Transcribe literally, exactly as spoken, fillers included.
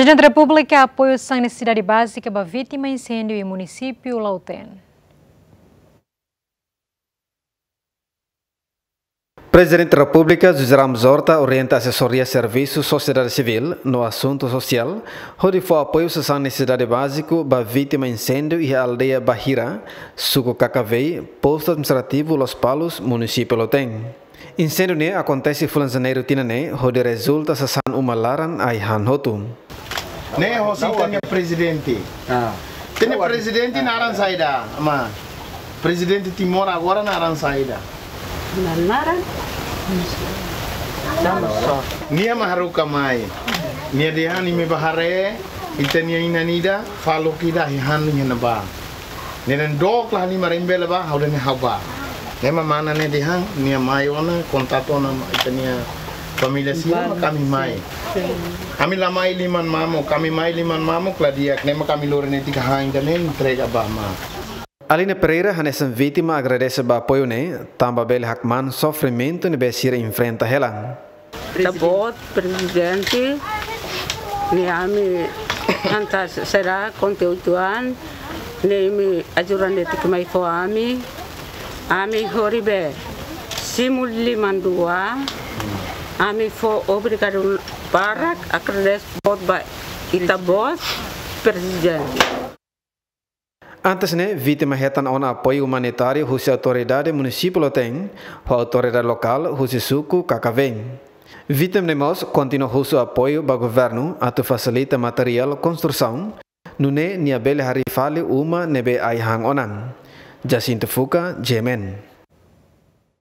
Prezidente Repúblika apoiu sasán nesesidade bázika ba vítima inséndiu iha munisípiu Lautém. Prezidente Repúblika José Ramos Horta orienta Asesoria Servisu Sosiedade Sivíl no Asuntu Sosiál hodi fó apoiu sasán nesesidade báziku ba vítima inséndiu iha aldeia Bahira, suku Kakavei, postu administrativu Lospalos, munisípiu Lautém. Inséndiu ne'e akontese fulan Janeiru tinan ne'e, hodi rezulta sasán uma laran ai-han hotu. Ne'e hosi ita-nia prezidente. Ah. Ita-nia prezidente naran saida, ma. Prezidente Timor agora naran saida. Naran? Nia mak haruka mai. Nia dehan imi bá haree, ita-nia inan ida, faluk ida, ai-han iha ne'ebá. Nia dehan dook la halimar, imi bele bá, ha'u dehan ha'u bá. Ne'e mak mana ne'e dehan, nia mai ona, kontaktu ona ita-nia família sira, mak ami mai. Ami la mai liman mamuk, ami mai liman mamuk la di'ak, ne'e mak ami lori netik han ida ne'e entrega ba mai. Aline Pereira hanesan vítima agradese ba apoiu ne'e, tanba bele hakmaan sofrimentu ne'ebé sira enfrenta hela. Ita-boot prezidente, ne'e ami han ta sera konteúdu an, ne'e imi ajuda netik mai fó ami, ami horibe simu liman dua, ami fó obrigadu barak, agradese boot ba ita-boot prezidente. Antes ne'e, vítima hetan ona apoiu umanitáriu husi autoridade munisípiu Lautém, ho autoridade lokál husi suku Kakavei. Vítima ne'e mós kontinua husu apoiu ba governu atu fasilita materiál konstrusaun, nune'e nia bele harii fali uma ne'ebé ai-han ona. Jacinto Fuca, G M N.